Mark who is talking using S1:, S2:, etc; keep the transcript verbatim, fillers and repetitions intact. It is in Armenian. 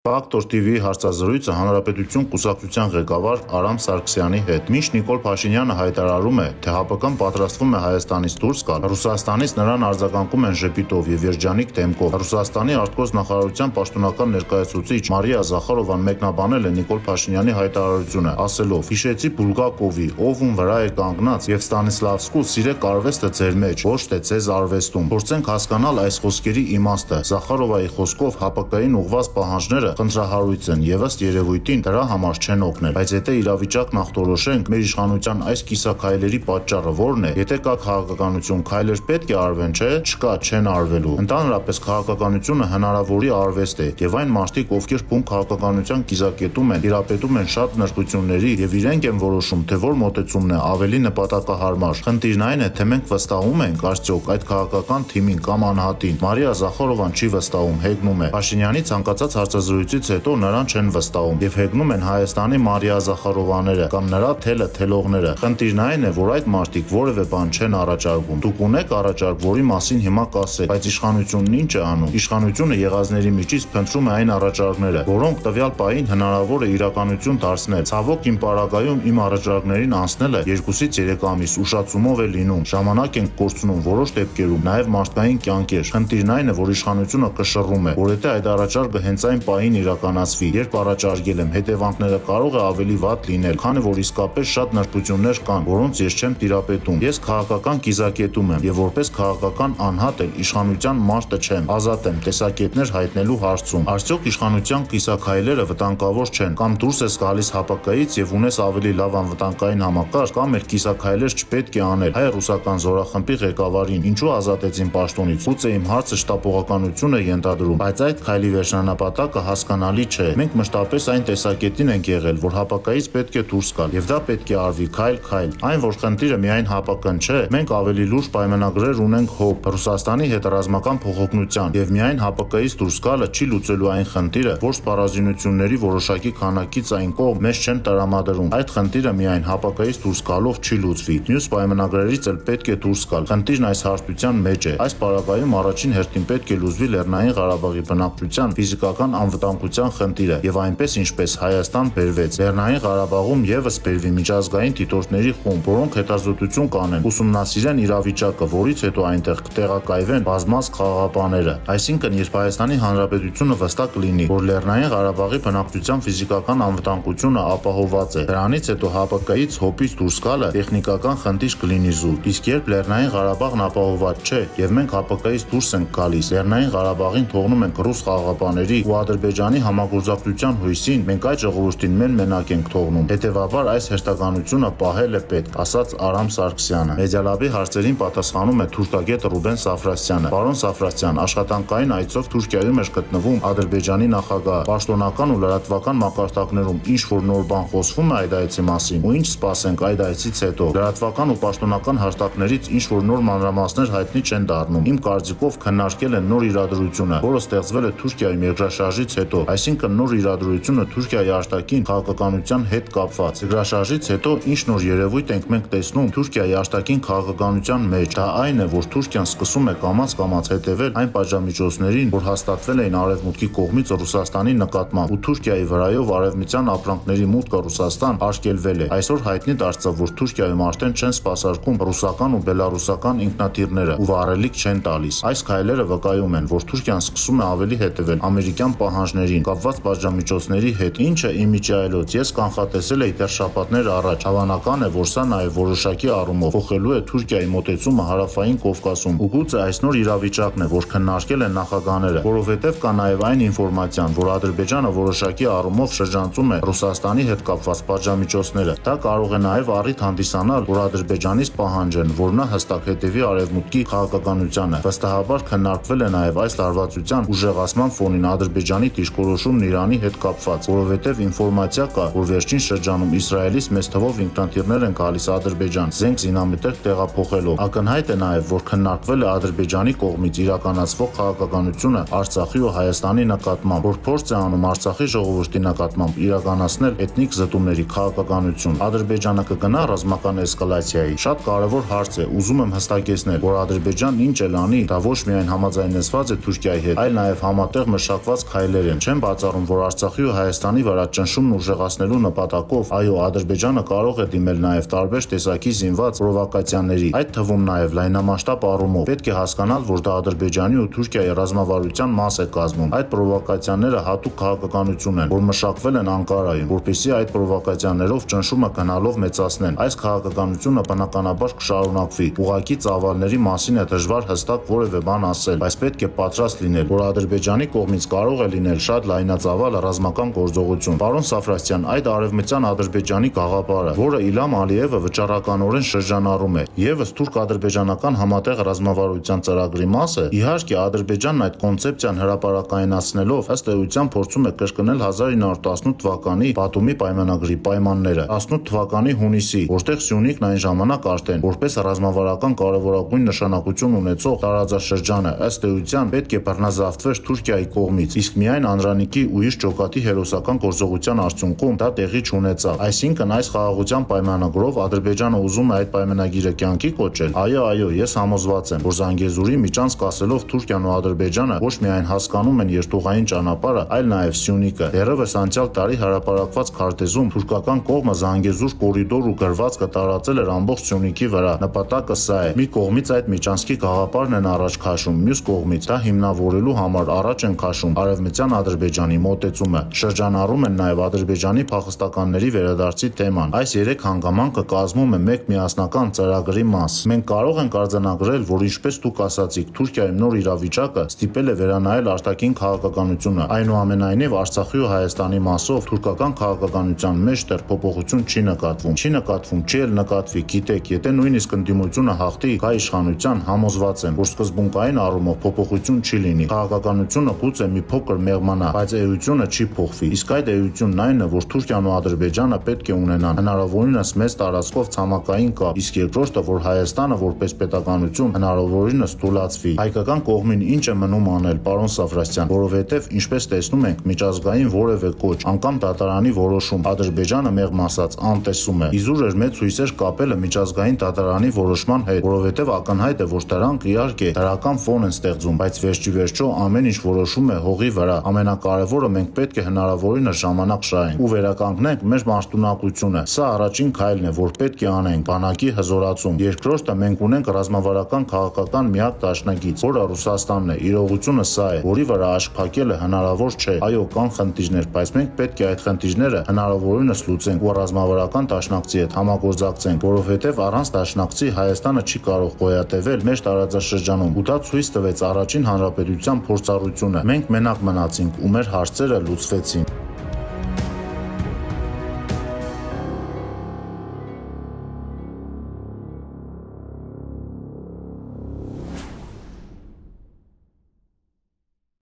S1: Ֆակտոր թիվիի հարցազրույցը Հանրապետություն կուսակցության ղեկավար Արամ Սարգսյանի հետ։ Մինչ Նիկոլ Փաշինյանը հայտարարում է, թե ՀԱՊԿ-ն պատրաստվում է Հայաստանից դուրս գալ, Ռուսաստանից նրան արձագանքում են ժպիտով եւ երջանիկ դեմքով։ Ռուսաստանի արտգործ նախարարության պաշտոնական ներկայացուցիչ Մարիա Զախարովան մեկնաբանել է Նիկոլ Փաշինյանի հայտարարությունը, ասելով. «Հիշեցի Բուլգակովի, ով ում վրա է կանգնած, եւ Ստանիսլավսկու սիրեք արվեստը ձեր մեջ, ոչ թե ձեզ արվեստում։ Փորձենք հասկանալ այս խոսքերի իմաստը»։ Զախարովայի խոսքով ՀԱՊԿ-ին ուղղված պահանջները խնդրահարույց են եւ ըստ երևույթին դրա համար չեն օգնել, բայց եթե իրավիճակն ախտորոշենք, մեր իշխանության այս կիսաքայլերի պատճառը ո՞րն է։ Եթե կա քաղաքականություն, քայլեր պետք է արվեն, չէ՞։ Չկա, չեն արվելու։ Ընդհանրապես քաղաքականությունը հնարավորի արվեստ է եւ այն մարդիկ, ովքեր բուն քաղաքականության կիզակետում են, տիրապետում են շատ նրբությունների եւ իրենք են որոշում, թե որ մոտեցումն է ավելի նպատակահարմար։ Խնդիրն այն է, թե մենք վստահում ենք արդյոք այդ քաղաքական թիմին կամ անհատին։ Մարիա Զախարովան չի վստահում, հեգնում է։ Փաշինյանի ցանկացած հարցազրույցից հետո նրան չեն վստահում եւ հեգնում են Հայաստանի Մարիա Զախարովաները կամ նրա թելը թելողները։ Խնդիրն այն է, որ այդ մարդիկ որևէ բան չեն առաջարկում։ Դուք ունեք առաջարկ, որի մասին հիմա կասեք, բայց իշխանությունն ինչ է անում։ Իշխանությունը եղածների միջից փնտրում է այն առաջարկները, որոնք տվյալ պահին հնարավոր է իրականություն դարձնել։ Ցավոք իմ պարագայում իմ առաջարկներին անցնելը երկուսից երեք ամիս ուշացումով է լինում։ Ժամանակ ենք կորցնում որոշ դեպքերում, նաեւ մարդկային կյանքեր։ Խնդիրն այն է, որ իշխանությունը կշռում է, որ եթե այդ առաջարկը հենց այն պահին իրականացվի, երբ առաջարկել եմ, հետևանքները կարող է ավելի վատ լինել, քանի որ իսկապես շատ նրբություններ կան, որոնց ես չեմ տիրապետում։ Ես քաղաքական կիզակետում եմ եւ որպես քաղաքական անհատ էլ իշխանության մարտը չեմ, ազատ եմ տեսակետներ հայտնելու հարցում։ Արդյոք իշխանության կիսաքայլերը վտանգավոր չեն, կամ դուրս ես գալիս ՀԱՊԿ-ից եւ ունես ավելի լավ անվտանգային համակարգ, կամ էլ կիսաքայլեր չպետք է անել։ Հայ-ռուսական զորախմբի ղեկավարին ինչու ազատեցին պաշտոնից։ Գուցե իմ հարցը շտապողականություն է ենթադրում, բայց այդ քայլի վերջնանապատակը հասկանալի չէ։ Մենք մշտապես այն տեսակետին ենք եղել, որ ՀԱՊԿ-ից պետք է դուրս գալ, եւ դա պետք է արվի քայլ-քայլ։ Այն, որ խնդիրը միայն ՀԱՊԿ-ն չէ, մենք ավելի լուրջ պայմանագրեր ունենք ՀՕՊ, Ռուսաստանի հետ ռազմական փոխօգնության, եւ միայն ՀԱՊԿ-ից դուրս գալը չի լուծելու այն խնդիրը, որ սպառազինությունների որոշակի քանակից այն կողմ մեզ չեն տրամադրում։ Այդ խնդիրը միայն ՀԱՊԿ-ից դուրս գալով չի լուծվի։ Մյուս պայմանագրերից էլ պետք է դուրս գալ։ Խնդիրն այս հարթության մեջ է։ Այս պարագայում առաջին հերթին պետք է լուծվի Լեռնային Ղարաբաղի բնակչության ֆիզիկական անվտանգության խնդիրը եւ այնպես ինչպես Հայաստան բերվեց։ Լեռնային Ղարաբաղում եւս բերվի միջազգային դիտորդների խումբ, որոնք հետազոտություն կանեն, ուսումնասիրեն իրավիճակը, որից հետո այնտեղ կտեղակայվեն բազմազգ խաղաղապահները։ Այսինքն, երբ Հայաստանի Հանրապետությունը վստահ կլինի, որ Լեռնային Ղարաբաղի բնակչության ֆիզիկական անվտանգությունը ապահովված է, դրանից հետո ՀԱՊԿ-ից ՀՕՊ-ից դուրս գալը տեխնիկական խնդիր կլինի զուտ։ Իսկ երբ Լեռնային Ղարաբաղն ապահովված չէ եւ մենք ՀԱՊԿ-ից դուրս ենք գալիս, Լեռնային Ղարաբաղին թողնում ենք ռուս խաղաղապահների ու Ադրբեջանի համագործակցության հույսին, մենք այդ ժողովրդին մեն-մենակ ենք թողնում։ Հետևաբար այս հերթականությունը պահել է պետք, ասաց Արամ Սարգսյանը։ Մեդիալաբի հարցերին պատասխանում է թուրքագետ Ռուբեն Սաֆրասյանը։ Պարոն Սաֆրասյան, աշխատանքային այցով Թուրքիայում էր գտնվում Ադրբեջանի նախագահը։ Պաշտոնական ու լրատվական մակարդակներում ինչ որ նոր բան խոսվում է այդ այցի մասին, ու ինչ սպասենք այդ այցից հետո։ Լրատվական ու պաշտոնական հաստատներից ինչ որ նոր մանրամասներ հայտնի չեն դառնում։ Իմ կարծիքով քննարկել են նոր իրադրությունը, որը ստեղծվել է Թուրքիայում երկրաշարժից հետո, այսինքն նոր իրադրությունը Թուրքիայի արտաքին քաղաքականության հետ կապված։ Երկրաշարժից հետո ինչ նոր երևույթ ենք մենք տեսնում Թուրքիայի արտաքին քաղաքականության մեջ։ Դա այն է, որ Թուրքիան սկսում է կամաց-կամաց հետևել այն պատժամիջոցներին, որ հաստատվել էին Արևմուտքի կողմից Ռուսաստանի նկատմամբ, ու Թուրքիայի վրայով արևմտյան ապրանքների մուտքը Ռուսաստան արգելվել է։ Այսօր հայտնի դարձավ, որ Թուրքիայում արդեն չեն սպասարկում ռուսական ու բելարուսական ինքնաթիռները ու վառելիք չեն տալիս։ Այս քայլերը վկայում են, որ Թուրքիան սկսում է ավելի հետևել ամերիկյան պահանջներին կապված պատժամիջոցների հետ, ինչը իմիջի այլոց ես կանխատեսել էի դեռ շաբաթներ առաջ։ Հավանական է, որ սա նաև որոշակի առումով փոխելու է Թուրքիայի մոտեցումը Հարավային Կովկասում։ Ու գուցե այս նոր իրավիճակն է, որ քննարկել են նախագահները, որովհետև կա նաև այն ինֆորմացիան, որ Ադրբեջանը որոշակի առումով շրջանցում է Ռուսաստանի հետ կապված պատժամիջոցները։ Դա կարող է նաև առիթ հանդիսանալ, որ Ադրբեջանից պահանջեն, որ նա հստակ հետևի Արևմուտքի քաղաքականությանը։ Վստահաբար քննարկվել է նաև այս լարվածության ուժեղացման ֆոնին Ադրբեջանի դիրքորոշումն Իրանի հետ կապված, որովհետև ինֆորմացիա կա, որ վերջին շրջանում Իսրայելից մեծ թվով ինքնաթիռներ են գալիս Ադրբեջան, զենք զինամետեր տեղափոխելով։ Ակնհայտ է նաև, որ քննարկվել է Ադրբեջանի կողմից իրականացվող քաղաքականությունը Արցախի ու Հայաստանի նկատմամբ, որ փորձ է անում Արցախի ժողովրդի նկատմամբ իրականացնել էթնիկ զտումների քաղաքականություն։ Ադրբեջանը կգնա ռազմական էսկալացիայի։ Շատ կարևոր հարց է, ուզում եմ հստակեցնել, որ Ադրբեջանն ինչ էլ անի, դա ոչ միայն համաձայնեցված է Թուրքիայի հետ, այլ նաև համատեղ մշակված քայլեր են, են։ Չեմ բացառում, որ Արցախի ու Հայաստանի վրա ճնշումն ուժեղացնելու նպատակով այո, Ադրբեջանը կարող է դիմել նաև տարբեր տեսակի զինված պրովոկացիաների, այդ թվում նաև լայնամասշտաբ առումով։ Պետք է հասկանալ, որ դա Ադրբեջանի ու Թուրքիայի ռազմավարության մաս է կազմում։ Այդ պրովոկացիաները հատուկ քաղաքականություն են, որ մշակվել են Անկարայում, որպեսզի այդ պրովոկացիաներով ճնշումը գնալով մեծացնեն։ Այս քաղաքականությունը բնականաբար կշարունակվի։ Ուղղակի ծավալների մասին է դժվար հստակ որևէ բան ասել, բայց պետք է պատրաստ լինել, որ Ադրբեջանի կողմից կարող է լինել շատ լայնածավալ ռազմական գործողություն։ Պարոն Սաֆրասյան, այդ արևմտյան Ադրբեջանի գաղափարը, որը Իլհամ Ալիևը վճռականորեն շրջանառում է, եւս թուրք-ադրբեջանական համատեղ ռազմավարության ծրագրի մաս է, իհարկե Ադրբեջանն այդ կոնցեպցիան հրապարակայնացնելով ըստ էության փորձում է կրկնել հազար ինը հարյուր տասնութ թվականի Բաթումի պայմանագրի պայմանները, տասնութ թվականի հունիսի, որտեղ Սյունիքն այն ժամանակ արդեն որպես ռազմավարական կարևորագույն նշանակություն ունեցող տարածաշրջանը ըստ էության պետք է բռնազավթվեր Թուրքիայի կողմից, իսկ միայն Անդրանիկի ու իր ջոկատի հերոսական գործողության արդյունքում դա տեղի չունեցավ։ Այսինքն այս խաղաղության պայմանագրով Ադրբեջանը ուզում է այդ պայմանագիրը կյանքի կոչել։ Այո, այո, ես համոզված եմ, որ Զանգեզուրի միջանցք ասելով Թուրքիան ու Ադրբեջանը ոչ միայն հասկանում են երթուղային ճանապարհը, այլ նաև Սյունիքը։ Դեռևս անցյալ տարի հրապարակված քարտեզում թուրքական կողմը Զանգեզուր կորիդոր ու գրվածքը տարածել էր ամբողջ Սյունիքի վրա։ Նպատակը սա է։ Մի կողմից այդ միջանցքի գաղափարն են առաջ քաշում, մյուս կողմից դա հիմնավորելու համար առաջ են քաշում արևմտյան Ադրբեջանի մոտեցումը։ Շրջանառում են նաև Ադրբեջանի փախստականների վերադարձի թեման։ Այս երեք հանգամանքը կազմում է մեկ միասնական ծրագրի մաս։ Մենք կարող ենք արձանագրել, որ ինչպես դուք ասացիք, Թուրքիայում նոր իրավիճակը ստիպել է վերանայել արտաքին քաղաքականությունը։ Այնուամենայնիվ Արցախի ու Հայաստանի մասով թուրքական քաղաքականության մեջ դեռ փոփոխություն չի նկատվում։ Չի նկատվում, չի էլ նկատվի, գիտեք, եթե նույնիսկ ընդդիմությունը հաղթի գա իշխանության, համոզված եմ, որ սկզբունքային առումով փոփոխություն չի լինի։ Քաղաքականությունը գուցե մի փոքր մեղմանա, բայց էությունը չի փոխվի։ Իսկ այդ էությունն այն է, որ Թուրքիան ու Ադրբեջանը պետք է ունենան հնարավորինս մեծ տարածքով ցամաքային կապ, իսկ երկրորդը, որ Հայաստանը որպես պետականություն հնարավորինս թուլացվի։ Հայկական կողմին ինչ է մնում անել, պարոն Սաֆրասյան, որովհետև ինչպես տեսնում ենք, միջազգային որևէ կոչ, անգամ դատարանի որոշում Ադրբեջանը մեղմ ասած անտեսում է։ Իզուր էր մեծ հույսեր կապելը միջազգային դատարանի որոշման հետ, որովհետև ակնհայտ է, որ դրանք իհարկե դրական ֆոն են ստեղծում, բայց վերջիվերջո ամեն ինչ որոշում է հողի վրա։ Ամենակարևորը մենք պետք է հնարավորինս ժամանակ շահենք ու վերականգնենք մեր մարտունակությունը։ Սա առաջին քայլն է, որ պետք է անենք բանակի հզորացում։ Երկրորդը մենք ունենք ռազմավարական քաղաքական միակ դաշնակից, որը Ռուսաստանն է։ Իրողությունը սա է, որի վրա աշկ փակելը հնարավոր չէ։ Այո, կան խնդիրներ, բայց մենք պետք է այդ խնդիրները հնարավորինս լուծենք ու ռազմավարական դաշնակցի հետ համագործակցենք, որովհետև առանց դաշնակցի Հայաստանը չի կարող գոյատևել մեր տարածաշրջանում, ու դա ցույց տվեց առաջին հանրապետության փորձառությունը։ Մենք մենակ մնացինք ու մեր հարցերը լուծվեցին։